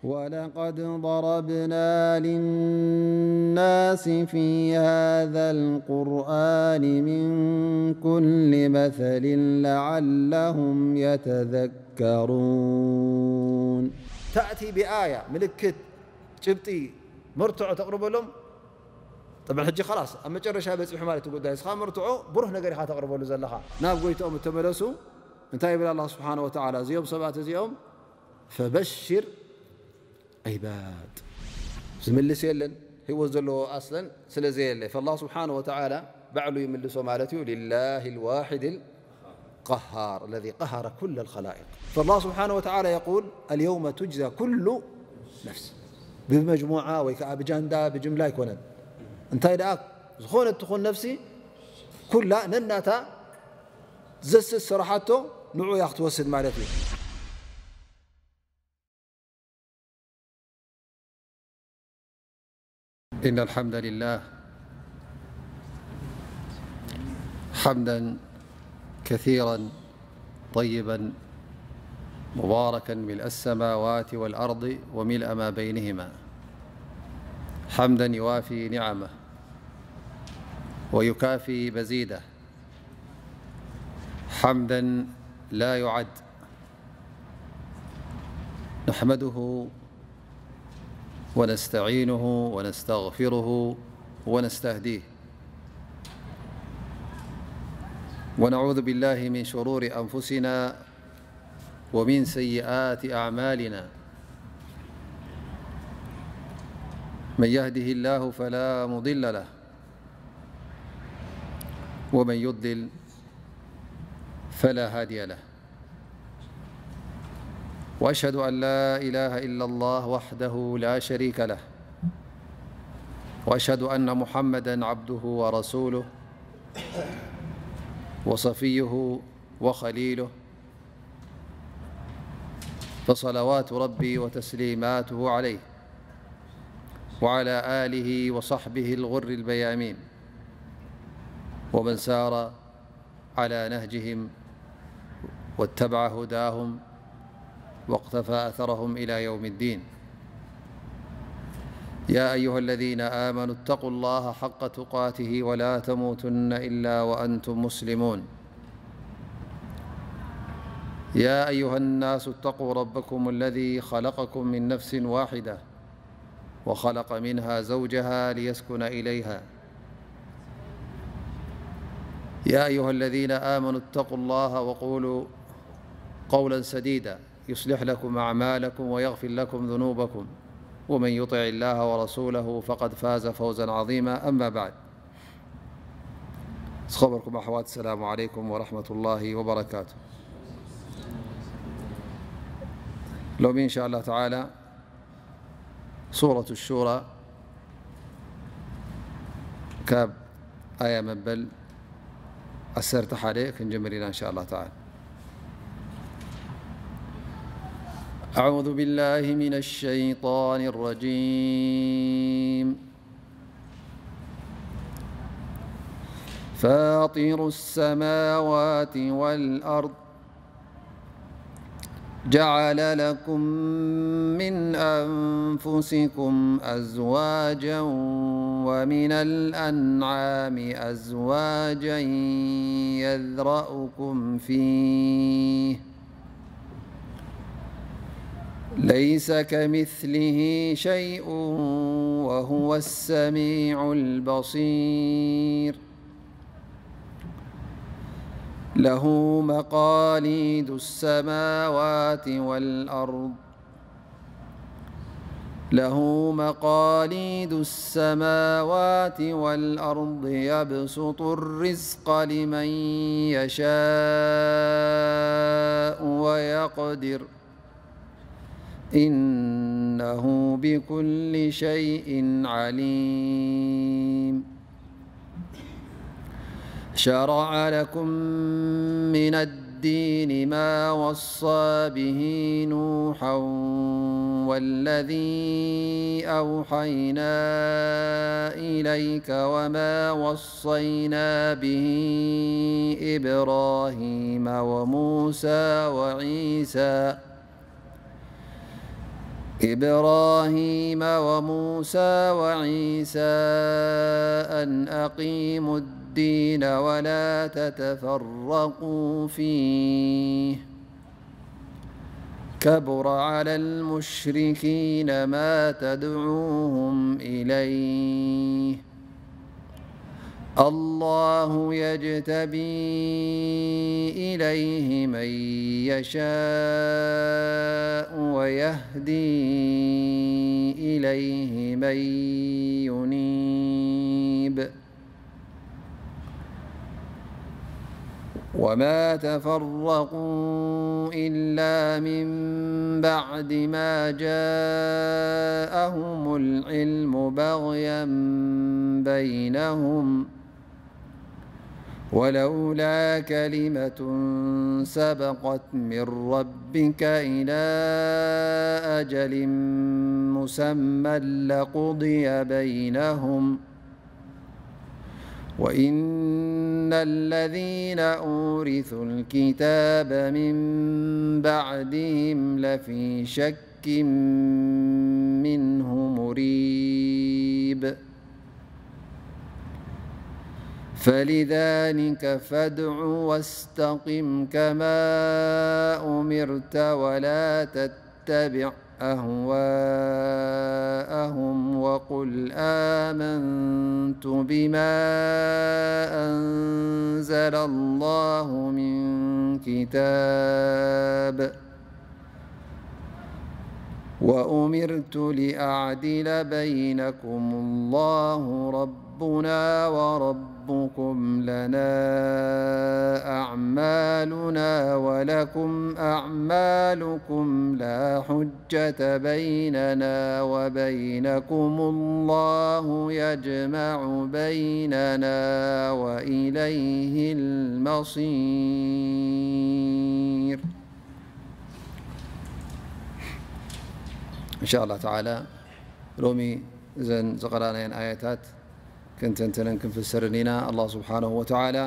ولقد ضربنا للناس في هذا القرآن من كل مثل لعلهم يتذكرون. تأتي بآية، ምልክት፣ ጭብጢ፣ መርትዖ ተቕርበሎም። ጠብዓን ሕጂ ኸላስ ኣብ መጨረሻ በፂሑ ማለት ጉዳይ። እስኻ መርትዖ ብሩህ ነገር ኢኻ ተቕርበሉ ዘለኻ። ናብ ጎይትኦም እተመለሱ እንታይ ይብል ኣላህ ስብሓነ ወተዓላ? እዚኦም ሰባት እዚኦም ፈበሽር ዒባድ። ዝምልስ የለን፣ ህይወት ዘለዎ ኣስለን ስለ ዘየለ፣ ፈላህ ስብሓነ ወተዓላ ባዕሉ ይምልሶ ማለት እዩ። ሊላሂ ልዋሒድ ልቀሃር፣ ለዚ ቀሃረ ኩለ ልኸላኢቅ። ፈላህ ስብሓነ ወተዓላ የቁል፣ ኣልየውመ ቱጅዛ ኩሉ ነፍስ። ብመጅሙዓ ወይ ከዓ ብጃንዳ፣ ብጅምላ ኣይኮነን። እንታይ ደኣ፣ ዝኾነት ትኹን ነፍሲ ኩላ ነናታ ዘስስ ስራሓቶ ንዑ እያ ክትወስድ ማለት እዩ። إن الحمد لله حمدا كثيرا طيبا مباركا ملء السماوات والأرض وملء ما بينهما، حمدا يوافي نعمه ويكافي مزيده، حمدا لا يعد، نحمده ونستعينه ونستغفره ونستهديه، ونعوذ بالله من شرور أنفسنا ومن سيئات أعمالنا. من يهده الله فلا مضل له، ومن يضلل فلا هادي له. وأشهد أن لا إله إلا الله وحده لا شريك له، وأشهد أن محمدا عبده ورسوله وصفيه وخليله، فصلوات ربي وتسليماته عليه وعلى آله وصحبه الغر الميامين، ومن سار على نهجهم واتبع هداهم واقتفى أثرهم إلى يوم الدين. يا أيها الذين آمنوا اتقوا الله حق تقاته ولا تموتن إلا وأنتم مسلمون. يا أيها الناس اتقوا ربكم الذي خلقكم من نفس واحدة وخلق منها زوجها ليسكن إليها. يا أيها الذين آمنوا اتقوا الله وقولوا قولا سديدا يصلح لكم أعمالكم ويغفر لكم ذنوبكم ومن يطع الله ورسوله فقد فاز فوزا عظيما. أما بعد، ዝኸበርኩም ኣሕዋት፣ ሰላሙ ዓለይኩም ወረሕመቱላሂ ወበረካቱ። ሎሚ እንሻ ኣላህ ተዓላ ሱረቱ ሹራ ካብ ኣያ መበል ዓሰርተ ሓደ ክንጅምር ኢና እንሻ ኣላህ ተዓላ። أعوذ بالله من الشيطان الرجيم. فاطر السماوات والأرض، جعل لكم من أنفسكم أزواجا ومن الأنعام أزواجا يذرأكم فيه، ليس كمثله شيء وهو السميع البصير. له مقاليد السماوات والأرض، له مقاليد السماوات والأرض يبسط الرزق لمن يشاء ويقدر، إنه بكل شيء عليم. شرع لكم من الدين ما وصى به نوحا والذي أوحينا إليك وما وصينا به إبراهيم وموسى وعيسى إبراهيم وموسى وعيسى أن أقيموا الدين ولا تتفرقوا فيه، كبر على المشركين ما تدعوهم إليه، الله يجتبي إليه من يشاء ويهدي إليه من ينيب، وما تفرقوا إلا من بعد ما جاءهم العلم بغيا بينهم، ولولا كلمة سبقت من ربك إلى أجل مسمى لقضي بينهم، وإن الذين أورثوا الكتاب من بعدهم لفي شك منه مريب. فلذلك فادع واستقم كما أمرت ولا تتبع أهواءهم وقل آمنت بما أنزل الله من كتاب، وأمرت لأعدل بينكم الله ربنا وربكم لنا أعمالنا ولكم أعمالكم لا حجة بيننا وبينكم الله يجمع بيننا وإليه المصير. إن شاء الله تعالى ሎሚ እዘን ዝቐራናየን ኣያታት ክንተንተነን ክንፍሰርን ኢና። ኣላህ ስብሓነሁ ወተዓላ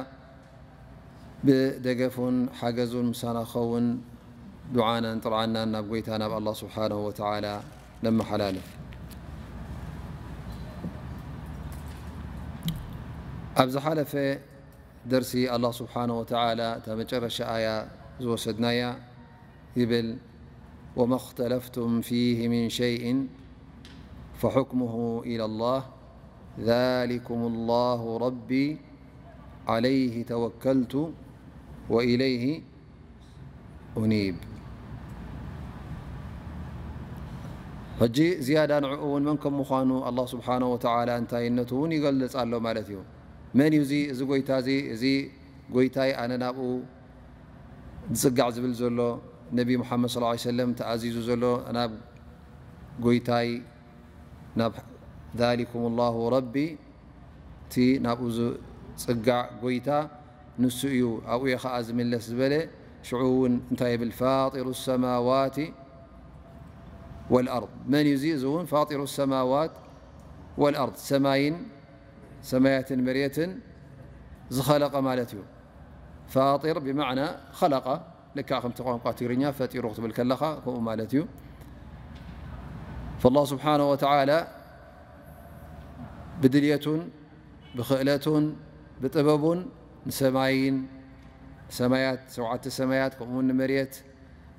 ብደገፉን ሓገዙን ምሳና ክኸውን ዱዓናን ጥርዓናን ናብ ጎይታ ናብ ኣላህ ስብሓነሁ ወተዓላ ነመሓላልፍ። ኣብ ዝሓለፈ ደርሲ ኣላህ ስብሓነሁ ወተዓላ እታ መጨረሻ ኣያ ዝወሰድናያ ይብል፣ وما اختلفتم فيه من شيء فحكمه إلى الله ذلكم الله ربي عليه توكلت وإليه أنيب። ሕጂ ዝያዳ ንዕኡ እውን መን ከም ምዃኑ ኣላህ ስብሓነሁ ወተዓላ እንታይነቱ እውን ይገልጽ ኣሎ ማለት እዩ። መን እዩ እዚ፣ እዚ ጎይታ እዚ? እዚ ጎይታይ ኣነ ናብኡ ዝጽጋዕ ዝብል ዘሎ፣ ነቢ ሙሓመድ ሰለላሁ ዐለይሂ ወሰለም ተኣዚዙ ዘሎ ናብ ጎይታይ፣ ናብ ذلكم الله ربي፣ እቲ ናብኡ ዝጽጋዕ ጎይታ ንሱ እዩ፣ ኣብኡ እየ ኸዓ ዝምለስ ዝበለ፣ ሽዑ እውን እንታይ ይብል? فاطر السماوات والأرض። መን እዩ እዚ? እዚ እውን فاطر السماوات والأرض፣ ሰማይን ሰማያትን መሬትን ዝኸለቐ ማለት እዩ። ፋጢር ብማዕና ኸለቐ፣ ልክዕ ከምቲ ቋንቋ ትግርኛ ፈጢሩ ክትብል ከለኻ ከምኡ ማለት እዩ። ፈላህ ስብሓነ ወተዓላ ብድልየቱን ብኽእለቱን ብጥበቡን ንሰማይን ሰማያት፣ ሸውዓተ ሰማያት፣ ከምኡውን ንመሬት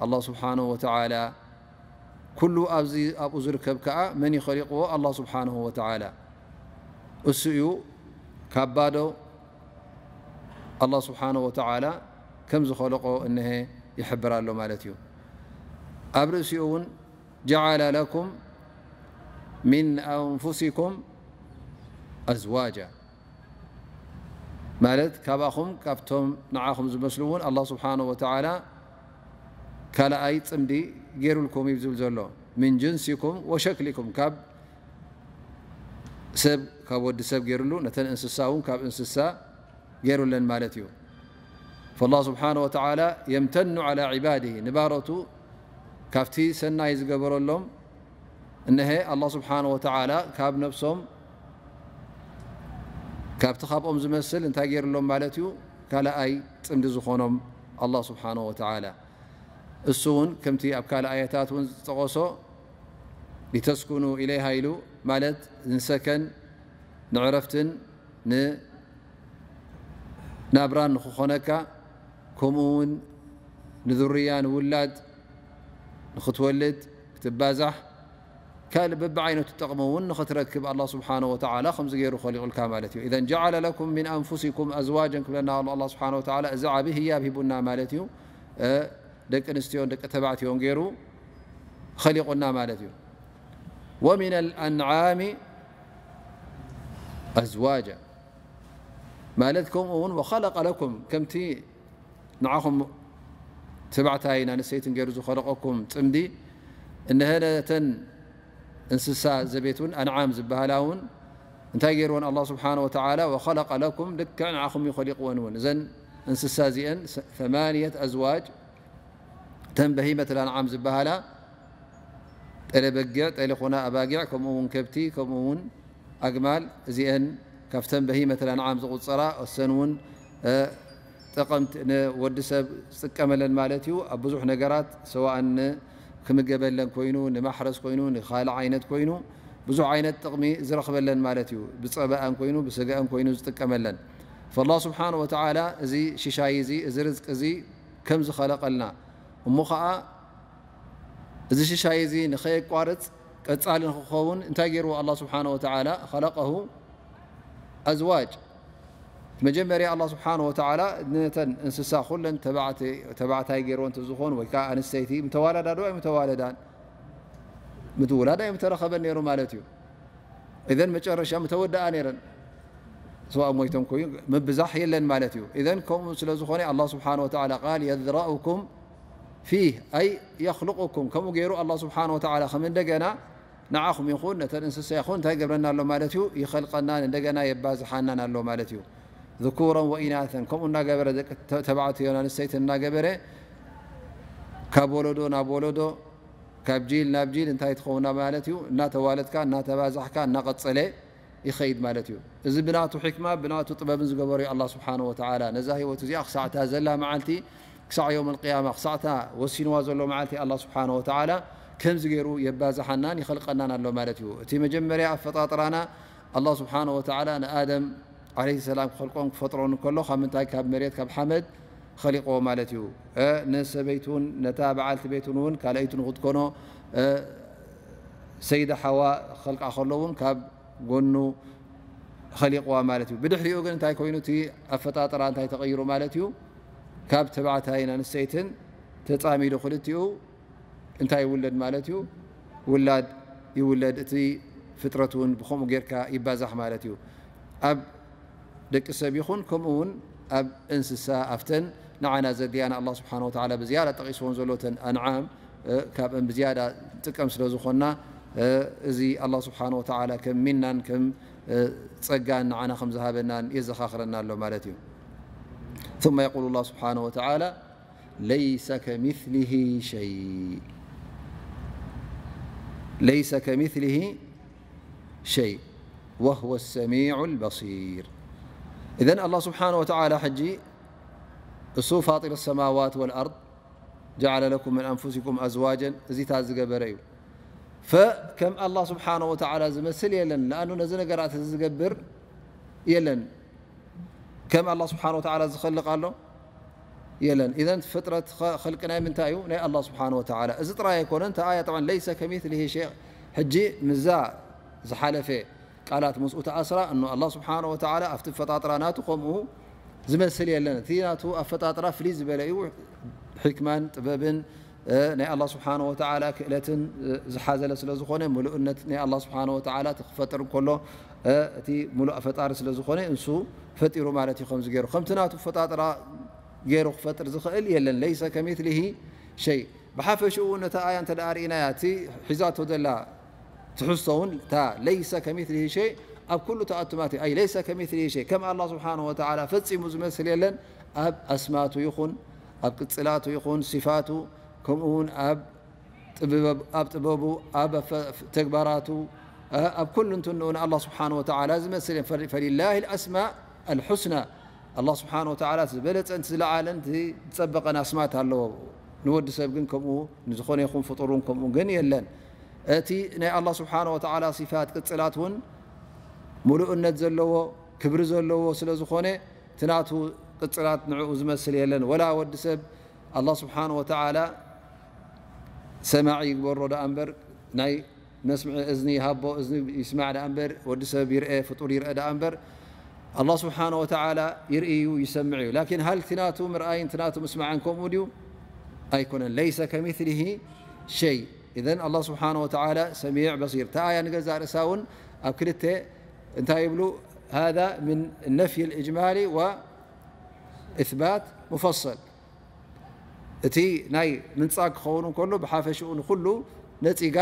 ኣላህ ስብሓነ ወተዓላ ኩሉ ኣብዚ ኣብኡ ዝርከብ ከኣ መን እዩ ኸሊቕዎ? ኣላህ ስብሓነሁ ወተዓላ። እሱ እዩ ካብ ባዶ ኣላህ ስብሓነሁ ወተዓላ ከም ዝኸለቆ እነሀ ይሕብር ኣሎ ማለት እዩ። ኣብ ርእሲኡ እውን ጀዓለ ለኩም ሚን ኣንፉሲኩም ኣዝዋጃ ማለት ካባኹም ካብቶም ንዓኹም ዝመስሉ እውን ኣላህ ስብሓነሁ ወተዓላ ካልኣይ ጽምዲ ገይሩልኩም እዩ ዝብል ዘሎ። ሚን ጅንሲኩም ወሸክሊኩም ካብ ሰብ ካብ ወዲ ሰብ ገይሩሉ ነተን እንስሳ እውን ካብ እንስሳ ገይሩለን ማለት እዩ። ፈላህ ስብሓነ ወተዓላ የምተኑ ዓላ ዒባድሂ ንባሮቱ ካብቲ ሰናይ ዝገበረሎም እነሀ ኣላህ ስብሓነ ወተዓላ ካብ ነብሶም ካብቲ ካብኦም ዝመስል እንታይ ገይሩሎም ማለት እዩ? ካልኣይ ጽምዲ ዝኾኖም ኣላህ ስብሓነ ወተዓላ። እሱ እውን ከምቲ ኣብ ካልእ ኣያታት እውን ዝጠቐሶ ሊተስኩኑ ኢለይሃ ኢሉ ማለት ንሰከን ንዕረፍትን ንናብራን ንክኾነካ፣ ከምኡ እውን ንዙርያ ንውላድ ንክትወልድ ክትባዛሕ ካልእ በብዓይነቱ ጥቕሚ እውን ንኽትረክብ ኣላህ ስብሓነሁ ወተዓላ ከምዚ ገይሩ ኸሊቑልካ ማለት እዩ። ኢዘን ጀዓለ ለኩም ሚን ኣንፉሲኩም ኣዝዋጀን ክብለና ኣሎ ኣላህ ስብሓነሁ ወተዓላ፣ እዚ ዓቢ ህያብ ሂቡና ማለት እዩ። ደቂ ኣንስትዮን ደቂ ተባዕትዮን ገይሩ ኸሊቑና ማለት እዩ። ወሚን ኣልኣንዓሚ ኣዝዋጃ ማለት ከምኡ እውን ወኸለቀ ለኩም ከምቲ ንዓኹም ተባዕታይን ኣንስተይትን ገይሩ ዝኸለቐኩም ጽምዲ እነሀ ነተን እንስሳ ዘቤት እውን ኣንዓም ዝበሃላ እውን እንታይ ገይርወን ኣላህ ስብሓነሁ ወተዓላ ወኸለቀ ለኩም ልክዕ ንዓኹም እዩ ኸሊቕወን እውን እዘን እንስሳ እዚአን ሰማንየት ኣዝዋጅ እተን በሂመት ኣልኣንዓም ዝበሃላ ጠለ በጊዕ፣ ጠለ ኮና ኣባጊዕ፣ ከምኡ እውን ከብቲ፣ ከምኡ እውን ኣግማል፣ እዚአን ካብተን በሂመት ኣልኣንዓም ዝቑጸራ፣ እሰን እውን ጠቐምቲ ንወዲ ሰብ ዝጥቀመለን ማለት እዩ። ኣብ ብዙሕ ነገራት ሰዋእን ክምገበለን ኮይኑ፣ ንማሕረስ ኮይኑ፣ ንኻልእ ዓይነት ኮይኑ፣ ብዙሕ ዓይነት ጥቕሚ ዝረኽበለን ማለት እዩ። ብጸበኣን ኮይኑ፣ ብስገአን ኮይኑ ዝጥቀመለን። ፈላህ ስብሓን ወተዓላ እዚ ሽሻይ እዚ፣ እዚ ርዝቂ እዚ ከም ዝኸለቐልና እሞ ኸዓ እዚ ሽሻይ እዚ ንኸየቋርጽ ቀጻሊ ንኽኸውን እንታይ ገይርዎ ኣላህ ስብሓነ ወተዓላ? ኸለቀሁ ኣዝዋጅ። መጀመርያ ኣላህ ስብሓነ ወተዓላ ነተን እንስሳ ኩለን ተባዕታይ ገይርዎ እንተዝኾኑ ወይ ከዓ ኣንስተይቲ ምተዋለዳ ዶ ኣይምተዋለዳን? ምትውላድ ኣይምተረኸበን ነይሩ ማለት እዩ። እዘን መጨረሻ ምተወደኣ ነይረን። ስዋእ ሞይቶም ኮዩ ምብዛሕ የለን ማለት እዩ። እዘን ከምኡ ስለ ዝኾነ ኣላህ ስብሓነ ወተዓላ ቃል የዝረኡኩም ፊህ ኣይ የኽልቁኩም ከምኡ ገይሩ ኣላህ ስብሓነ ወተዓላ ከም እንደገና ንዓኹም ይኹን ነተን እንስሳ ይኹን እንታይ ይገብረና ኣሎ ማለት እዩ? ይኸልቀናን እንደገና የባዝሓናን ኣሎ ማለት እዩ። ذكورا وإناثا ከምኡ እናገበረ ደቂ ተባዕትዮን ኣንስተይትን እናገበረ ካብ ወለዶ ናብ ወለዶ ካብ ጂል ናብ ጂል እንታይ ትኸውና ማለት እዩ? እናተዋለድካ እናተባዛሕካ እናቐጸለ ይኸይድ ማለት እዩ። እዚ ብናቱ ሕክማ ብናቱ ጥበብን ዝገበሩ ኣላ ስብሓን ወተዓላ ነዛ ህይወት እዚኣ ክሳዕታ ዘላ መዓልቲ ክሳዕ ዮም ልቅያማ ክሳዕታ ወሲንዋ ዘሎ መዓልቲ ኣላ ስብሓን ወተዓላ ከምዚ ገይሩ የባዝሓናን ይኸልቀናን ኣሎ ማለት እዩ። እቲ መጀመርያ ኣፈጣጥራና ኣላ ስብሓን ወተዓላ ንኣደም ዓለይሂ ሰላም ክኸልቆን ክፈጥሮን ከሎ ካብ ምንታይ ካብ መሬት ካብ ሓመድ ኸሊቆ ማለት እዩ። ንሰበይቱን ነታ በዓልቲ ቤቱን እውን ካልኣይቱ ንክትኮኖ ሰይዳ ሓዋ ክኸልቃ ከሎ እውን ካብ ጎኑ ኸሊቕዋ ማለት እዩ። ብድሕሪኡ ግን እንታይ ኮይኑ እቲ ኣፈጣጥራ እንታይ ተቐይሩ ማለት እዩ? ካብ ተባዕታይን ኣንስተይትን ተፃሚዱ ክልቲኡ እንታይ ይውለድ ማለት እዩ? ውላድ ይውለድ። እቲ ፍጥረት እውን ብኸምኡ ጌርካ ይባዛሕ ማለት እዩ። ኣብ ደቂ ሰብ ይኹን ከምኡ እውን ኣብ እንስሳ ኣብተን ንዓና ዘድልያና ኣላ ስብሓን ወተዓላ ብዝያዳ ጠቒስዎን ዘሎ ተን ኣንዓም ካብን ብዝያዳ ንጥቀም ስለ ዝኾንና እዚ ኣላ ስብሓን ወተዓላ ከም ሚናን ከም ጸጋን ንዓና ከም ዝሃበናን የዘኻኽረና ኣሎ ማለት እዩ። ثم يقول الله سبحانه وتعالى ليس كمثله شيء ليس كمثله شيء وهو السميع البصير إذن الله سبحانه وتعالى ሕጂ እሱ فاطر السماوات والأرض جعل لكم من أنفسكم أزواجا እዚታት ዝገበረ እዩ። ከም ኣላ ስብሓነ ወተዓላ ዝመስል የለን። ለኣኑ ነዚ ነገራት እዚ ዝገብር የለን። ከም ኣላ ስብሓነ ወተዓላ ዝኸልቕ ኣሎ የለን። ኢዘን ፍጥረት ኸልቂ ናይ ምንታይ እዩ? ናይ ኣላ ስብሓነ ወተዓላ። እዚ ጥራይ ኣይኮነን። እታ ኣያ ጠብዓን ለይሰ ከሚስሊሂ ሸይ ሕጂ ምዛ ዝሓለፈ ቃላት ምስኡ ተኣስራ እኖ ኣላ ስብሓነ ወተዓላ ኣብቲ ኣፈጣጥራ ናቱ ከምኡ ዝመስል የለን። እቲ ናቱ ኣፈጣጥራ ፍልይ ዝበለ እዩ። ሕክማን ጥበብን ናይ ኣላ ስብሓነ ወተዓላ ክእለትን ዝሓዘለ ስለ ዝኾነ ምሉእነት ናይ ኣላ ስብሓነ ወተዓላ እቲ ክፈጥር እንከሎ እቲ ምሉእ ፈጣሪ ስለ ዝኾነ እንሱ ፈጢሩ ማለት እዩ። ከምዚ ገይሩ ከምቲ ናቱ ኣፈጣጥራ ገይሩ ክፈጥር ዝኽእል የለን። ለይሰ ከሚስሊሂ ሸይ። ብሓፈሽኡ ነታ ኣያ እንተ ደኣ ርኢናያ እቲ ሒዛቶ ዘላ ትሕዝቶ እውን እታ ለይሰ ከሚስሊሂ ሸይ ኣብ ኩሉ ተኣቱማት እዩ። ኣይ ለይሰ ከሚስሊሂ ሸይ ከም ኣላ ስብሓነ ወተዓላ ፈጺሙ ዝመስል የለን። ኣብ ኣስማቱ ይኹን ኣብ ቅጽላቱ ይኹን ሲፋቱ ከምኡ እውን ኣብ ጥበብ ኣብ ጥበቡ ኣብ ኣፈ- ተግባራቱ ኣብ ኩሉ እንትንኡ ንኣላ ስብሓነ ወተዓላ ዝመስል የለን። ፈ- ፈሊላሂ ልኣስማእ ኣልሑስና ኣላ ስብሓን ወተዓላ ዝበለፀን እቲ ዝለዓለን እቲ ዝፀበቐን ኣስማት ኣለዎ። ንወዲ ሰብ ግን ከምኡ ንዝኾነ ይኹን ፍጡር እውን ከምኡ ግን የለን። እቲ ናይ ኣላህ ስብሓነ ወተዓላ ሲፋት ቅጽላት እውን ምሉእነት ዘለዎ ክብሪ ዘለዎ ስለ ዝኾነ፣ እቲ ናቱ ቅጽላት ንዕኡ ዝመስል የለን። ወላ ወዲ ሰብ ኣላህ ስብሓነ ወተዓላ ሰማዒ ይግበሮ ደኣ እምበር፣ ናይ መስምዒ እዝኒ ይሃቦ፣ እዝኒ ይስማዕ ደኣ እምበር፣ ወዲ ሰብ ይርአ፣ ፍጡር ይርአ ደኣ እምበር፣ ኣላህ ስብሓነ ወተዓላ ይርኢ እዩ፣ ይሰምዕ እዩ። ላኪን ሃል እቲ ናቱ ምርኣይን እቲ ናቱ ምስማዕን ከምኡ ድዩ? ኣይኮነን። ለይሰ ከሚስሊሂ ሸይ። ኢዘን ኣላህ ስብሓነ ወተዓላ ሰሚዕ በሲር። እታ ኣያ ንገዛእ ርእሳ እውን ኣብ ክልተ እንታይ ይብሉ? ሃዛ ምን ነፍይ ልእጅማሊ ወእስባት ሙፈሰል። እቲ ናይ ምንጻግ ክኸውን እንከሎ ብሓፈሽኡ ንኹሉ ነጺጋ፣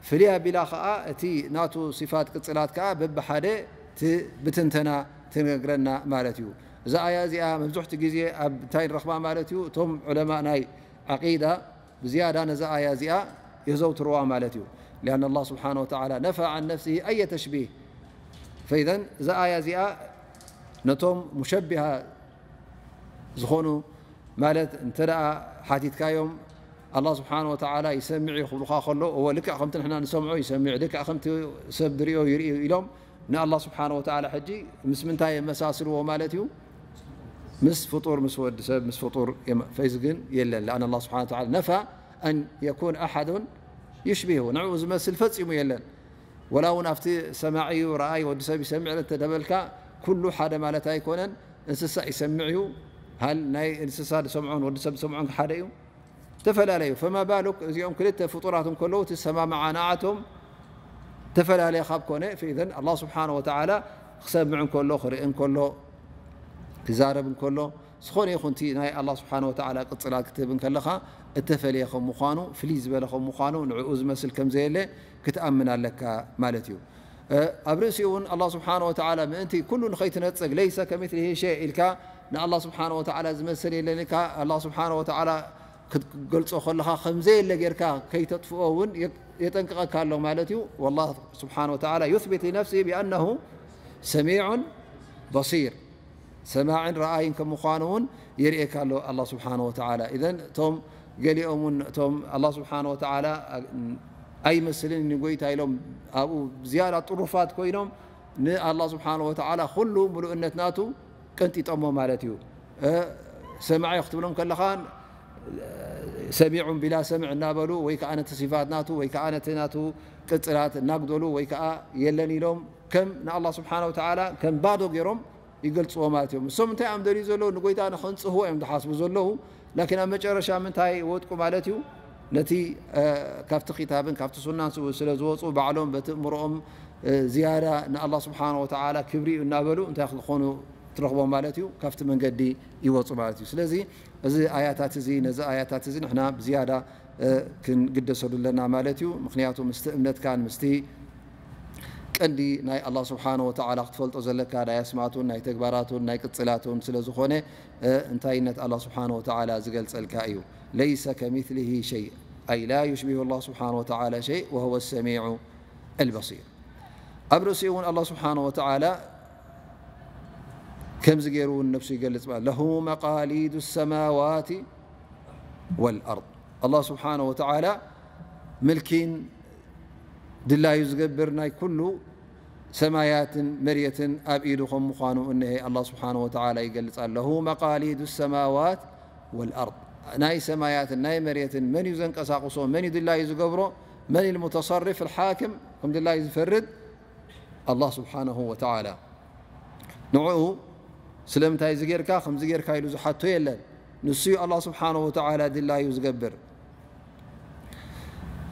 ፍልይ ኣቢላ ኸኣ እቲ ናቱ ሲፋት ቅጽላት ከኣ በብሓደ ት-፣ ብትንተና ትነግረና ማለት እዩ። እዛ ኣያ እዚኣ መብዝሕቲ ግዜ ኣብ እንታይ ንረኽባ ማለት እዩ? እቶም ዑለማ ናይ ዓቂዳ ብዝያዳ ነዛ ኣያ እዚኣ የዘውትርዋ ማለት እዩ። ሊኣን ኣላህ ስብሓነ ወተዓላ ነፋ ዓን ነፍሲሂ ኣየ ተሽቢህ። ፈኢዘን እዛ ኣያ እዚኣ ነቶም ሙሸቢሃ ዝኾኑ ማለት እንተ ደኣ ሓቲትካዮም ኣላህ ስብሓነ ወተዓላ ይሰምዕ እዩ ክብሉኻ ከሎ፣ እወ ልክዕ ከምቲ ንሕና ንሰምዖ ይሰምዕ፣ ልክዕ ከምቲ ሰብ ዝሪኦ ይርኢ እዩ ኢሎም ንኣላህ ስብሓነ ወተዓላ ሕጂ ምስ ምንታይ የመሳስልዎ ማለት እዩ? ምስ ፍጡር፣ ምስ ወዲ ሰብ፣ ምስ ፍጡር የመ-፣ ፈይዚ ግን የለን። ለኣን ኣላህ ስብሓነ ወተዓላ ነፋ ኣን የኩን ኣሓዱን ዩሽቢሁ፣ ንዕኡ ዝመስል ፈጺሙ የለን። ወላ እውን ኣብቲ ሰማዒ እዩ፣ ረኣይ፣ ወዲ ሰብ ይሰምዕ እንተ ደበልካ፣ ኩሉ ሓደ ማለት ኣይኮነን። እንስሳ ይሰምዕ እዩ። ሃል ናይ እንስሳ ዝሰምዖን ወዲ ሰብ ዝሰምዖን ሓደ እዩ? ተፈላለዩ። ፈማ ባሉክ እዚኦም ክልተ ፍጡራት እንከለዉ፣ እቲ ሰማምዓ ንዓቶም ተፈላለየ ካብ ኮነ፣ ፈኢዘን ኣላህ ስብሓነ ወተዓላ ክሰምዕ እንከሎ፣ ክርኢ እንከሎ፣ ክዛረብ እንከሎ፣ ዝኾነ ይኹን እቲ ናይ ኣላህ ስብሓነ ወተዓላ ቅጽላት ክትህብ እንከለኻ፣ እተፈልየ ከም ምዃኑ፣ ፍልይ ዝበለ ከም ምዃኑ፣ ንዕኡ ዝመስል ከም ዘየለ ክትኣምን ኣለካ ማለት እዩ። እ፣ ኣብ ርእሲኡ እውን ኣላህ ስብሓነ ወተዓላ ምእንቲ ኩሉ ንኸይትነጽግ፣ ለይሰ ከሚስሊሂ ሸይ ኢልካ ንኣላህ ስብሓነ ወተዓላ ዝመስል የለን ኢልካ፣ ኣላህ ስብሓነ ወተዓላ ክትገልጾ ከለኻ ከም ዘየለ ጌርካ ከይተጥፍኦ እውን የ-፣ የጠንቅቐካ ኣሎ ማለት እዩ። ወላህ ስብሓነ ወተዓላ ዩስቢት ሊነፍሲሂ ቢኣነሁ ሰሚዑን በሲር። ሰማዕን ረኣይን ከም ምዃኑ እውን የርእየካ ኣሎ ኣላህ ስብሓነ ወተዓላ። ኢዘን እቶም ገሊኦም እውን እቶም ኣላህ ስብሓነ ወተዓላ ኣይመስልን ንጎይታ ኢሎም ኣብኡ ዝያዳ ጥሩፋት ኮይኖም ንኣላህ ስብሓነ ወተዓላ ኩሉ ምሉእነት ናቱ ቀንጢጦሞ ማለት እዩ። እ፣ ሰማዒ ክትብሎም ከለኻ ሰሚዑን ቢላ ሰምዕ እናበሉ ወይ ከዓ ነቲ ሲፋት ናቱ ወይ ከዓ ነቲ ናቱ ቅጽላት እናጉደሉ ወይ ከዓ የለን ኢሎም ከም ንኣላህ ስብሓነ ወተዓላ ከም ባዶ ገይሮም ይገልጽዎ ማለት እዮም። እሶም እንታይ እዮም ደልዩ ዘለዉ? ንጎይታ ንኸንጽህዎ እዮም ዝሓስቡ ዘለዉ። ላኪን ኣብ መጨረሻ ምንታይ ወድቁ ማለት እዩ? ነቲ፣ እ፣ ካብቲ ኪታብን ካብቲ ሱናን ስለ ዝወጹ ባዕሎም በቲ እምሮኦም፣ እ፣ ዝያዳ ንኣላህ ስብሓነ ወተዓላ ክብሪ እዩ እናበሉ እንታይ ክኾኑ ትረኽቦም ማለት እዩ? ካብቲ መንገዲ ይወጹ ማለት እዩ። ስለዚ እዚ ኣያታት እዚ፣ ነዚ ኣያታት እዚ ንሕና ብዝያዳ፣ እ፣ ክንግደሰሉ ኣለና ማለት እዩ። ምኽንያቱ ምስቲ እምነትካን ምስቲ ቀንዲ ናይ ኣላህ ስብሓነ ወተዓላ ክትፈልጦ ዘለካ ናይ ኣስማቱን ናይ ተግባራቱን ናይ ቅጽላቱን ስለ ዝኾነ፣ እ፣ እንታይነት ኣላህ ስብሓነ ወተዓላ ዝገልጸልካ እዩ። ለይሰ ከሚስሊሂ ሸይ፣ ኣይ ላ ዩሽቢሁ ኣላህ ስብሓነ ወተዓላ ሸይ ወሁወ ሰሚዑ ኣልበሲር። ኣብ ርእሲኡ እውን ኣላህ ስብሓነ ወተዓላ ከምዚ ገይሩ እውን ነብሱ ይገልጽ ማለት፣ ለሁ መቃሊዱ ሰማዋት ወልኣርድ። ኣላህ ስብሓነ ወተዓላ ምልኪን ድላዩ ዝገብር ናይ ኩሉ ሰማያትን መሬትን ኣብ ኢዱ ከም ምዃኑ እነሄ ኣላህ ስብሓነ ወተዓላ ይገልጽ ኣለሁ። መቃሊዱ ሰማዋት ወልኣርድ፣ ናይ ሰማያትን ናይ መሬትን መን እዩ ዘንቀሳቕሶ? መን እዩ ድላዩ ዝገብሮ? መን ልሙተሰርፍ ልሓክም፣ ከም ድላዩ ዝፈርድ? ኣላህ ስብሓነሁ ወተዓላ። ንዕኡ ስለምንታይ እዚ ጌርካ፣ ከምዚ ጌርካ ኢሉ ዝሓቶ የለን። ንሱ እዩ ኣላህ ስብሓነሁ ወተዓላ ድላዩ ዝገብር።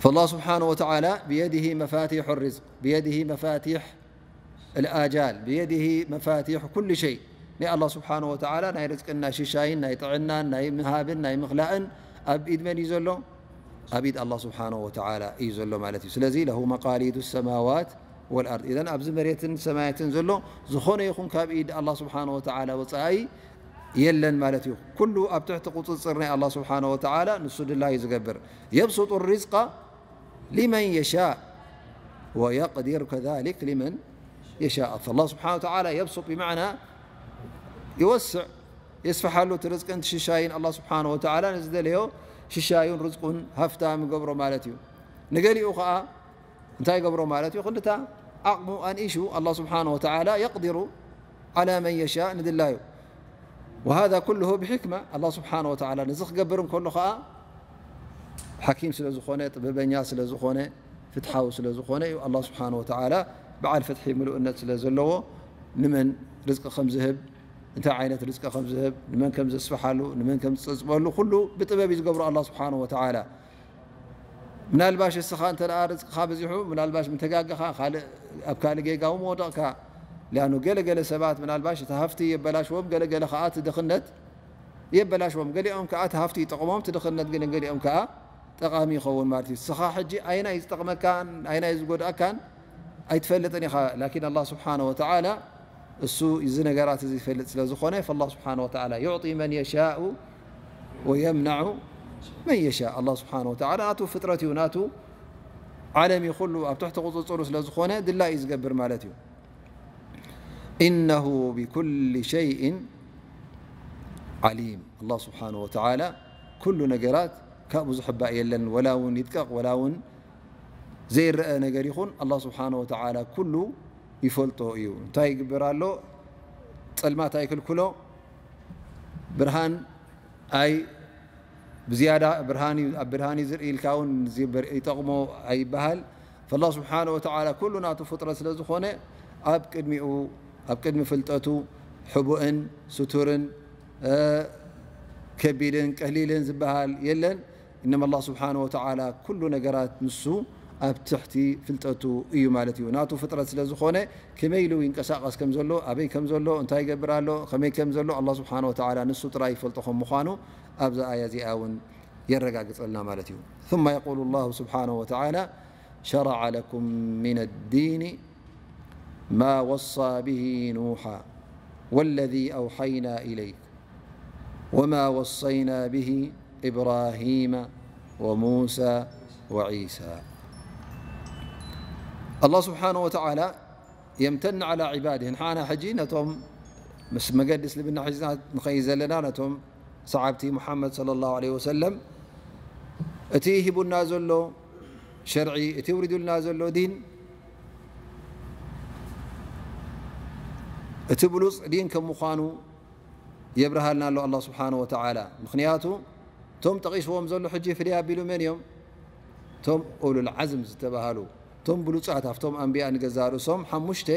ፈላህ ስብሓነሁ ወተዓላ ብየዲሂ መፋቲሑ ርዝቅ፣ ብየዲሂ መፋቲሕ ልኣጃል፣ ብየዲሂ መፋቲሕ ኩሉ ሸይ። ናይ ኣላህ ስብሓነሁ ወተዓላ ናይ ርዝቅን ናይ ሽሻይን ናይ ጥዕናን ናይ ምሃብን ናይ ምኽላእን ኣብ ኢድ መን እዩ ዘሎ? ኣብ ኢድ ኣላህ ስብሓነሁ ወተዓላ እዩ ዘሎ ማለት እዩ። ስለዚ ለሁ መቃሊዱ ሰማዋት ወልኣርድ። ኢዘን ኣብዚ መሬትን ሰማያትን ዘሎ ዝኾነ ይኹን ካብ ኢድ ኣላህ ስብሓነሁ ወተዓላ ወጻኢ የለን ማለት እዩ። ኩሉ ኣብ ትሕቲ ቁጽጽር ናይ ኣላህ ስብሓነሁ ወተዓላ፣ ንሱ ድላዩ ዝገብር። የብሱጡ ሪዝቃ ሊመን የሻእ ወየቅዲር ከዛሊክ ሊመን የሻእ። ፈላህ ስብሓነሁ ወተዓላ የብሱጥ ብማዕና ይወስዕ፣ የስፍሓሉ እቲ ርዝቅን እቲ ሽሻይን። ኣላህ ስብሓነሁ ወተዓላ ንዝደለዮ ሽሻዩን ርዝቁን ሃፍታም ይገብሮ ማለት እዩ። ንገሊኡ ኸዓ እንታይ ይገብሮ ማለት እዩ? ክንድታ ዓቕሙ ኣንኢሹ ኣላህ ስብሓነ ወተዓላ የቕዲሩ ዓላ መን የሻእ ንድላዩ። ወሃዛ ኩልሁ ብሕክማ። ኣላህ ስብሓነ ወተዓላ ነዚ ክገብር እንከሎ ኸዓ ሓኪም ስለ ዝኾነ፣ ጥበበኛ ስለ ዝኾነ፣ ፍትሓዊ ስለ ዝኾነ እዩ። ኣላህ ስብሓነ ወተዓላ በዓል ፍትሒ ምሉእነት ስለ ዘለዎ ንመን ርዝቂ ከም ዝህብ፣ እንታይ ዓይነት ርዝቂ ከም ዝህብ፣ ንመን ከም ዘስፍሓሉ፣ ንመን ከም ዝፀፅበሉ ኩሉ ብጥበብ እዩ ዝገብሮ ኣላህ ስብሓነ ወተዓላ። ምናልባሽ እስኻ እንተ ደኣ ርዝቅኻ በዚሑ፣ ምናልባሽ ምተጋገኻ፣ ካልእ፣ ኣብ ካልእ ጌጋ እውን ወደቕካ። ሊኣኑ ገለ ገለ ሰባት ምናልባሽ እቲ ሃፍቲ የበላሽዎም፣ ገለ ገለ ኸኣ እቲ ድኽነት የበላሽዎም። ገሊኦም ከኣ እቲ ሃፍቲ ይጠቕሞም፣ እቲ ድኽነት ግን ገሊኦም ከኣ ጠቓሚ ይኸውን ማለት እዩ። እስኻ ሕጂ ኣይናይ ዝጠቕመካን ኣይናይ ዝጎድኣካን ኣይትፈልጥን ኢኻ። ላኪን ኣላህ ስብሓነ ወተዓላ እሱ እዚ ነገራት እዚ ይፈልጥ ስለ ዝኾነ፣ ፈላህ ስብሓነ ወተዓላ ዩዕጢ መን የሻኡ ወየምናዑ መን የሻእ። ኣላህ ስብሓነ ወተዓላ ናቱ ፍጥረት እዩ፣ ናቱ ዓለም እዩ፣ ኩሉ ኣብ ትሕቲ ቁፅፅሩ ስለ ዝኾነ ድላይ እዩ ዝገብር ማለት እዩ። ኢነሁ ብኩሊ ሸይእን ዓሊም። ኣላህ ስብሓነ ወተዓላ ኩሉ ነገራት ካብኡ ዝሕባእ የለን፣ ወላ እውን ይድቀቕ፣ ወላ እውን ዘይረአ ነገር ይኹን፣ ኣላህ ስብሓነ ወተዓላ ኩሉ ይፈልጦ እዩ። እንታይ ይግበር ኣሎ? ጸልማት ኣይክልክሎ፣ ብርሃን ኣይ ብዝያዳ ብርሃን እዩ፣ ኣብ ብርሃን እዩ ዝርኢ ኢልካ እውን ዝበር-፣ ይጠቕሞ ኣይበሃል። ፈላህ ስብሓነ ወተዓላ ኩሉ ናቱ ፍጥረት ስለ ዝኾነ ኣብ ቅድሚኡ፣ ኣብ ቅድሚ ፍልጠቱ ሕቡእን ስቱርን፣ እ፣ ከቢድን ቀሊልን ዝበሃል የለን። እነማ ኣላህ ስብሓነ ወተዓላ ኩሉ ነገራት ንሱ ኣብ ትሕቲ ፍልጠቱ እዩ ማለት እዩ። ናቱ ፍጥረት ስለ ዝኾነ ከመይ ኢሉ ይንቀሳቐስ ከም ዘሎ፣ ኣበይ ከም ዘሎ፣ እንታይ ይገብር ኣሎ፣ ከመይ ከም ዘሎ ኣላህ ስብሓነ ወተዓላ ንሱ ጥራይ ይፈልጦ ከም ምዃኑ ኣብዛ ኣያ እዚኣ እውን የረጋግጸልና ማለት እዩ። ثم يقول الله سبحانه وتعالى: شرع لكم من الدين ما وصى به نوحا والذي أوحينا إليك وما وصينا به إبراهيم وموسى وعيسى. ኣላህ ስብሓነ ወተዓላ የምተን ዓላ ዒባድህ። ንሓና ሕጂ ነቶም ምስ መገዲ እስልምና ሒዝና ንኸይድ ዘለና፣ ነቶም ሰዓብቲ ሙሓመድ ሰለላሁ ዐለይሂ ወሰለም፣ እቲ ሂቡና ዘሎ ሸርዒ፣ እቲ ውሪዱልና ዘሎ ዲን፣ እቲ ብሉፅ ዲን ከም ምዃኑ የብርሃልና ኣሎ ኣላህ ስብሓነ ወተዓላ። ምኽንያቱ እቶም ጠቒስዎም ዘሎ ሕጂ ፍልይ ኣቢሉ መን እዮም? እቶም ኡሉል ዓዝም ዝተባሃሉ፣ እቶም ብሉጻት ኣብቶም ኣንብያ ንገዛ ርእሶም ሓሙሽተ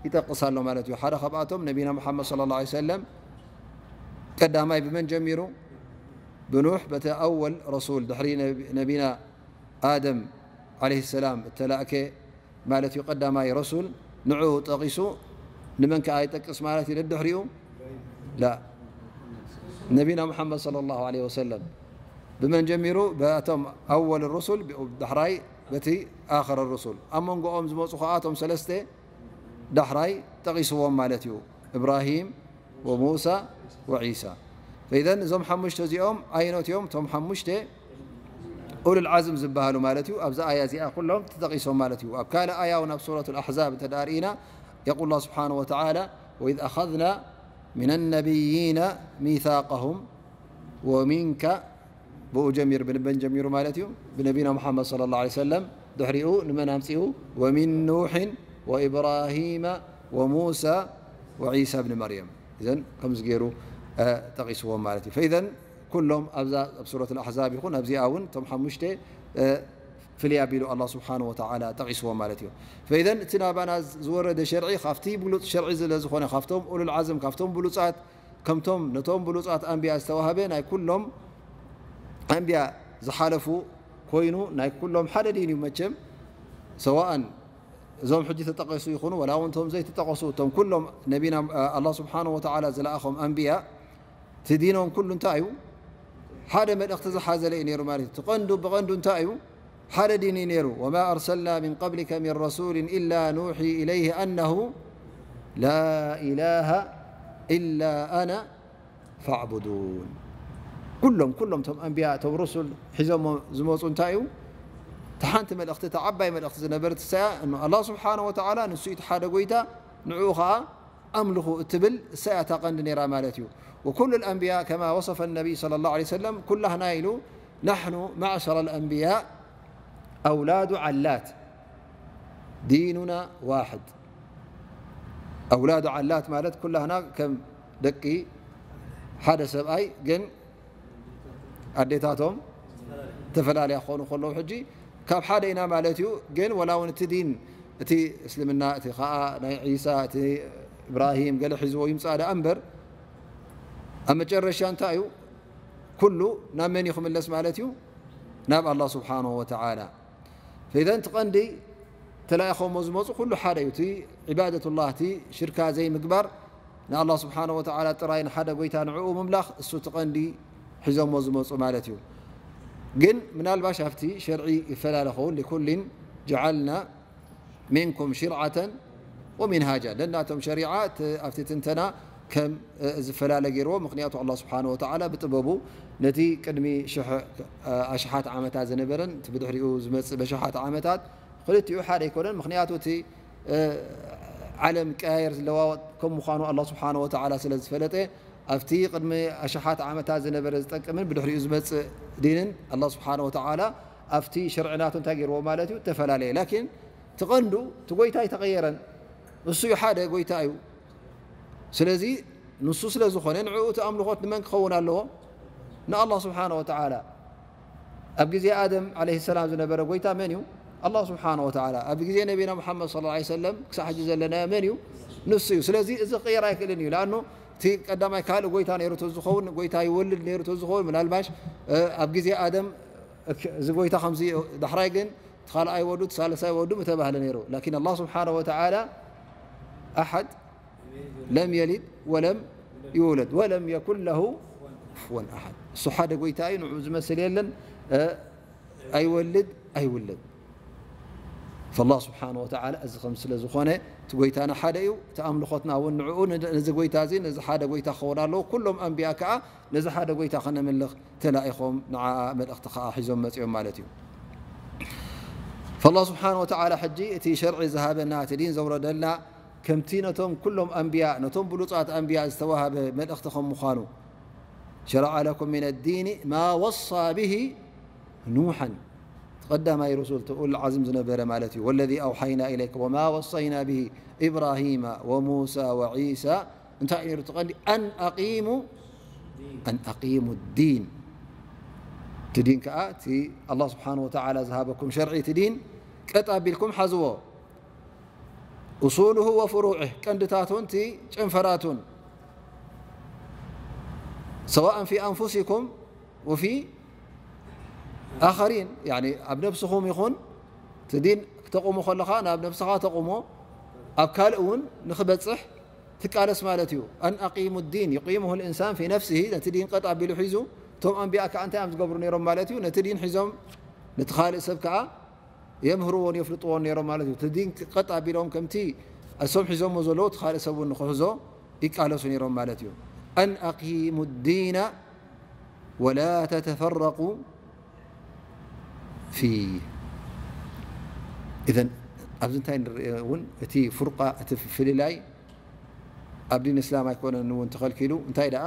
ይጠቕስ ኣሎ ማለት እዩ። ሓደ ካብኣቶም ነቢና ሙሓመድ ሰለላሁ ዐለይሂ ወሰለም ቀዳማይ ብመን ጀሚሩ? ብኑሕ፣ በቲ ኣወል ረሱል፣ ድሕሪ ነቢ-፣ ነቢና ኣደም ዐለይሂ ሰላም እተላእከ ማለት እዩ፣ ቀዳማይ ረሱል ንዕኡ ጠቒሱ። ንመን ከኣ ይጠቅስ ማለት እዩ ደድሕሪኡ? ላ፣ ነቢና ሙሓመድ ሰለላሁ ዐለይሂ ወሰለም። ብመን ጀሚሩ? በቶም ኣወል ሩሱል፣ ብኡ ዳሕራይ በቲ ኣኸር ሩሱል። ኣብ መንጎኦም ዝመፁ ከኣ እቶም ሰለስተ ዳሕራይ ጠቒስዎም ማለት እዩ፣ እብራሂም ወሙሳ ወዒሳ። ፈኢዘን እዞም ሓሙሽተ እዚኦም ኣይኖት እዮም? እቶም ሓሙሽተ ኡሉል ዓዝም ዝበሃሉ ማለት እዩ። ኣብዛ ኣያ እዚኣ ኩሎም ተጠቒሶም ማለት እዩ። ኣብ ካልእ ኣያ እውን ኣብ ሱረቱል ኣሕዛብ እንተ ደኣ ርኢና፣ የቁል ኣላህ ስብሓነሁ ወተዓላ: "ወኢዝ ኣኸዝና ሚነ ነቢይና ሚሳቀሁም ወሚንካ"፣ ብኡ ጀሚሩ፣ ብንበን ጀሚሩ ማለት እዩ፣ ብነቢና ሙሓመድ ሰለላሁ ዐለይሂ ወሰለም፣ ድሕሪኡ ንመን ኣምፂኡ? "ወሚን ኑሕን ወኢብራሂመ ወሙሳ ወዒሳ ብኒ መርየም"። እዘን ከምዚ ገይሩ፣ እ፣ ጠቒስዎም ማለት እዩ። ፈኢዘን ኩሎም ኣብዛ፣ ኣብ ሱረት ኣልኣሕዛብ ይኹን ኣብዚኣ እውን እቶም ሓሙሽተ፣ እ፣ ፍልይ ኣቢሉ ኣላህ ስብሓነሁ ወተዓላ ጠቒስዎም ማለት እዩ። ፈኢዘን እቲ ናባና ዝወረደ ሸርዒ ካብቲ ብሉፅ ሸርዒ ስለ ዝኾነ፣ ካብቶም ኡሉል ዓዝም፣ ካብቶም ብሉፃት፣ ከምቶም ነቶም ብሉፃት ኣንብያ ዝተዋህበ ናይ ኩሎም ኣንብያ ዝሓለፉ ኮይኑ፣ ናይ ኩሎም ሓደ ዲን እዩ መቸም። ሰዋእን እዞም ሕጂ ተጠቐሱ ይኹኑ፣ ወላ እውን እቶም ዘይተጠቐሱ፣ እቶም ኩሎም ነቢና፣ ኣላህ ስብሓነሁ ወተዓላ ዝለኣኾም ኣንብያ፣ እቲ ዲኖም ኩሉ እንታይ እዩ? ሓደ መልእኽቲ ዝሓዘለ እዩ ነይሩ ማለት እዩ። እቲ ቀንዱ ብቐንዱ እንታይ እዩ? ሓደ ዲን እዩ ነይሩ። "ወማ ኣርሰልና ሚን ቀብሊከ ሚን ረሱሊን ኢላ ኑሒ ኢለይሂ ኣነሁ ላ ኢላሃ ኢላ ኣና ፋዕቡዱን።" ኩሎም፣ ኩሎም እቶም ኣንብያ፣ እቶም ሩሱል ሒዞሞ ዝመፁ እንታይ እዩ? እታ ሓንቲ መልእኽቲ፣ እታ ዓባይ መልእኽቲ ዝነበረት እሳያ፣ እኖ ኣላህ ስብሓነሁ ወተዓላ ንሱ እዩ እቲ ሓደ ጎይታ፣ ንዕኡ ኸዓ ኣምልኹ እትብል እሳያ እታ ቀንዲ ነይራ ማለት እዩ። ወኩሉ ኣልኣንብያ ከማ ወሰፈ ነቢይ ሰለላሁ ዐለይሂ ወሰለም ኩላህና ኢሉ፣ ናሕኑ ማዕሸረ ኣልኣንብያ ኣውላዱ ዓላት ዲኑና ዋሕድ። ኣውላዱ ዓላት ማለት ኩላህና ከም ደቂ ሓደ ሰብኣይ ግን ኣዴታቶም ተፈላለያ ክኾኑ ከለዉ ሕጂ ካብ ሓደ ኢና ማለት እዩ። ግን ወላ እውን እቲ ዲን እቲ እስልምና እቲ ከዓ ናይ ዒሳ እቲ እብራሂም ገለ ሒዝዎ ይምፃእ ደኣ እምበር ኣብ መጨረሻ እንታይ እዩ ኩሉ ናብ መን እዩ ክምለስ ማለት እዩ ናብ ኣላ ስብሓንሁ ወተዓላ። ፈኢዘን እቲ ቀንዲ ተላኢኾሞ ዝመፁ ኩሉ ሓደ እዩ። እቲ ዒባደቱላህ እቲ ሽርካ ዘይምግባር ንኣላ ስብሓንሁ ወተዓላ ጥራይ ንሓደ ጎይታ ንዕኡ ምምላኽ እሱ እቲ ቀንዲ ሒዞሞ ዝመፁ ማለት እዩ። ግን ምናልባሽ ኣብቲ ሸርዒ ይፈላለ ኸውን ሊኩሊን ጀዓልና ሚንኩም ሽርዓተን ወሚንሃጃ ነናቶም ሸሪዓ ኣብቲ ትንተና ከም ዝፈላለ ገይርዎ። ምክንያቱ ኣላ ስብሓን ወተዓላ ብጥበቡ ነቲ ቅድሚ ሽሕ ኣሽሓት ዓመታት ዝነበረን እቲ ብድሕሪኡ ዝመፅእ በሽሓት ዓመታት ክልቲኡ ሓደ ኣይኮነን። ምክንያቱ እቲ ዓለም ቀያየር ዝለዋወጥ ከም ምዃኑ ኣላ ስብሓን ወተዓላ ስለ ዝፈለጠ ኣብቲ ቅድሚ ኣሽሓት ዓመታት ዝነበረ ዝጠቅምን ብድሕሪኡ ዝመፅእ ዲንን ኣላ ስብሓን ወተዓላ ኣብቲ ሸርዒ ናቱ እንታይ ገይርዎ ማለት እዩ ተፈላለየ። ላኪን ትቐንዱ እቲ ጎይታ ኣይተቐየረን። እሱ እዩ ሓደ ጎይታ እዩ። ስለዚ ንሱ ስለ ዝኾነ ንዕኡ እቲ ኣምልኾት ንመን ክኸውን ኣለዎ? ንኣላ ስብሓን ወተዓላ። ኣብ ግዜ ኣደም ዓለይሂ ሰላም ዝነበረ ጎይታ መን እዩ? ኣላ ስብሓን ወተዓላ። ኣብ ግዜ ነቢና ሙሓመድ ሰለላሁ ዐለይሂ ወሰለም ክሳዕ ሕጂ ዘለናዮ መን እዩ? ንሱ እዩ። ስለዚ እዚ ክቕየር ኣይክእልን እዩ። ለኣኑ እቲ ቀዳማይ ካልእ ጎይታ ነይሩ ተዝኸውን ጎይታ ይወልድ ነይሩ ተዝኸውን ምናልባሽ ኣብ ግዜ ኣደም እዚ ጎይታ ከምዚ ዳሕራይ ግን እቲ ካልኣይ ወዱ እቲ ሳልሳይ ወዱ ምተባህለ ነይሩ። ላኪን ኣላ ስብሓን ወተዓላ ኣሓድ ለም የሊድ ወለም ይውለድ ወለም የኩን ለሁ ኩፍወን ኣሓድ። እሱ ሓደ ጎይታ እዩ፣ ንዑ ዝመስል የለን። ኣይወልድ ኣይውለድ። ፈላ ስብሓን ወተዓላ እዚ ከም ስለ ዝኾነ እቲ ጎይታና ሓደ እዩ። እቲ ኣምልኾትና እውን ንዕኡ ነዚ ጎይታ እዚ ነዚ ሓደ ጎይታ ክኸውን ኣለዎ። ኩሎም ኣንቢያ ከዓ ነዚ ሓደ ጎይታ ከነምልኽ ተላኢኾም ንዓ መልእኽቲ ከዓ ሒዞም መፂኦም ማለት እዩ። ፈላ ስብሓን ወተዓላ ሕጂ እቲ ሸርዒ ዝሃበና እቲ ዲን ዘውረደልና ከምቲ ነቶም ኩሎም ኣንብያ ነቶም ብሉፃት ኣንብያ ዝተዋሃበ መልእኽቲ ከም ምዃኑ ሸረዐ ለኩም ምን ኣዲን ማ ወሳ ብሂ ኑሐን ቀዳማይ ሩሱል እቲ ኡሉል ዓዝም ዝነበረ ማለት እዩ። ወለዚ ኣውሓይና ኢለይከ ወማ ወሰይና ብሂ ኢብራሂማ ወሙሳ ወዒሳ እንታይ እዩ ነይሩ እቲ ቀንዲ ኣን ኣቂሙ ኣን ኣቂሙ ዲን እቲ ዲን ከዓ እቲ ኣላ ስብሓን ወተዓላ ዝሃበኩም ሸርዒ እቲ ዲን ቀጥ ኣቢልኩም ሓዝዎ። ኡሱሉሁ ወፍሩዕህ ቀንድታቱን እቲ ጨንፈራቱን ሰዋእን ፊ ኣንፉሲኩም ወፊ ኣኸሪን ኣብ ነብስኹም ይኹን እቲ ዲን ክተቑሙ ከለኻ ናብ ነብስኻ ተቑሞ ኣብ ካልእ እውን ንክበፅሕ ትቃለስ ማለት እዩ። ኣን ኣቂሙ ዲን ዩቂሙሁ ልእንሳን ፊ ነፍሲሂ ነቲ ዲን ቀጥ ኣቢሉ ሒዙ እቶም ኣንቢያ ከዓ እንታይ እዮም ዝገብሩ ነይሮም ማለት እዩ። ነቲ ዲን ሒዞም ነቲ ካልእ ሰብ ከዓ የምህርዎን የፍልጥዎን ነይሮም ማለት እዩ። እቲ ዲን ቀጥ ኣቢሎም ከምቲ እሶም ሒዞሞ ዘለዉ እቲ ካልእ ሰብ እውን ንክሕዞ ይቃለሱ ነይሮም ማለት እዩ። ኣን ኣቂሙ ዲና ወላ ተተፈረቁ ፊህ። ኢዘን ኣብዚ እንታይ ንርኢ እውን እቲ ፍርቃ እቲ ፍልላይ ኣብ ዲን እስላም ኣይኮነን እውን ተኸልኪሉ። እንታይ ደኣ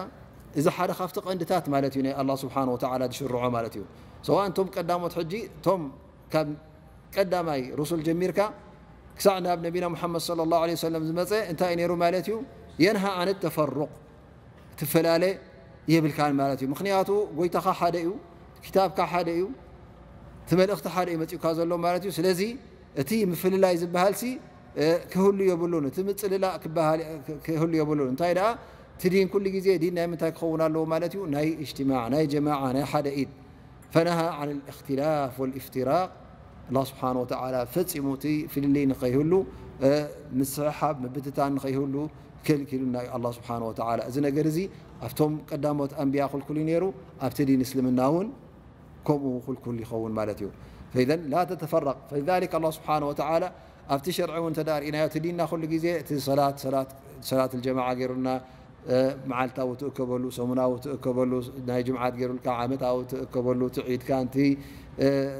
እዚ ሓደ ካብቲ ቀንድታት ማለት እዩ ናይ ኣላ ስብሓን ወተዓላ ዝሽርዖ ማለት እዩ። ሰዋእ እንቶም ቀዳሞት ሕጂ እቶም ካብ ቀዳማይ ሩሱል ጀሚርካ ክሳዕ ናብ ነቢና ሙሓመድ ሰለላሁ ዐለይሂ ወሰለም ዝመፀ እንታይ እዩ ነይሩ ማለት እዩ? የንሃ ኣን ተፈሩቅ ትፈላለ የብልካን ማለት እዩ። ምክንያቱ ጎይታኻ ሓደ እዩ፣ ክታብካ ሓደ እዩ፣ እቲ መልእኽቲ ሓደ እዩ መፂኡካ ዘሎ ማለት እዩ። ስለዚ እቲ ምፍልላይ ዝበሃልሲ ክህሉ የብሉን፣ እቲ ምፅልላእ ክበሃል ክህሉ የብሉን። እንታይ ደኣ እቲ ዲን ኩሉ ግዜ ዲን ናይ ምንታይ ክኸውን ኣለዎ ማለት እዩ? ናይ እጅትማዕ፣ ናይ ጀማዓ፣ ናይ ሓደ ኢድ ፈነሃ ዓን ልእክትላፍ ወልእፍትራቅ። ኣላ ስብሓን ወተዓላ ፈፂሙ እቲ ፍልልይ ንኸይህሉ፣ ምስሕሓብ ምብትታን ንኸይህሉ ከልኪሉና እዩ ኣላ ስብሓን ወተዓላ። እዚ ነገር እዚ ኣብቶም ቀዳሞት ኣንብያ ክልኩል እዩ ነይሩ፣ ኣብቲ ዲን እስልምና እውን ከምኡ ክልኩል ይኸውን ማለት እዩ። ፈኢዘን ላ ተተፈረቅ። ፈሊዛሊክ ኣላ ስብሓን ወተዓላ ኣብቲ ሸርዒ እውን እንተ ደኣ ርኢናዮ፣ እቲ ዲንና ኩሉ ግዜ እቲ ሰላት፣ ሰላት፣ ሰላት ልጀማዓ ገይሩና፣ መዓልታዊ ትእከበሉ፣ ሰሙናዊ ትእከበሉ፣ ናይ ጅምዓት ገይሩልካ ዓመታዊ ትእከበሉ፣ እቲ ዒድካ፣ እንቲ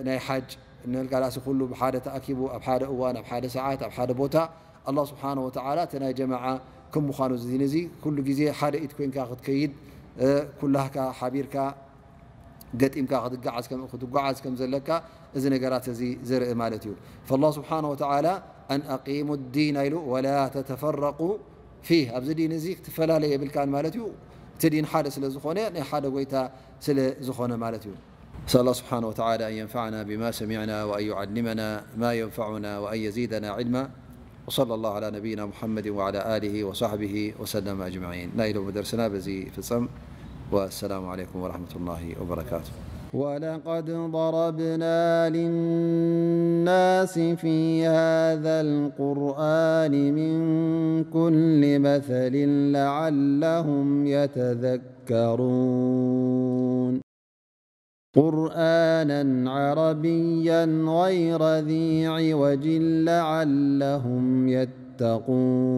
ናይ ሓጅ እንልካ ዳሲ ኩሉ ብሓደ ተኣኪቡ ኣብ ሓደ እዋን፣ ኣብ ሓደ ሰዓት፣ ኣብ ሓደ ቦታ ኣላህ ስብሓነሁ ወተዓላ እቲ ናይ ጀማዓ ከም ምዃኑ እዚ ዲን እዚ ኩሉ ግዜ ሓደ ኢድ ኮይንካ ክትከይድ፣ ኩላህካ ሓቢርካ ገጢምካ ክትጓዓዝ ከም ዘለካ እዚ ነገራት እዚ ዘርኢ ማለት እዩ። فالله سبحانه وتعالى أن أقيموا الدين ኢሉ ولا تتفرقوا فيه። ኣብዚ ዲን እዚ ክትፈላለ የብልካን ማለት እዩ። እቲ ዲን ሓደ ስለ ዝኾነ፣ ናይ ሓደ ጎይታ ስለ ዝኾነ ማለት እዩ። نسأل الله سبحانه وتعالى أن ينفعنا بما سمعنا وأن يعلمنا ما ينفعنا وأن يزيدنا علما. وصلى الله على نبينا محمد وعلى آله وصحبه وسلم أجمعين. ናይ ሎሚ ደርስና በዚ ይፍጸም። والسلام عليكم ورحمة الله وبركاته. ولقد ضربنا للناس في هذا القرآن من كل مثل لعلهم يتذكرون. قرآنا عربيا غير ذي عوج لعلهم يتقون.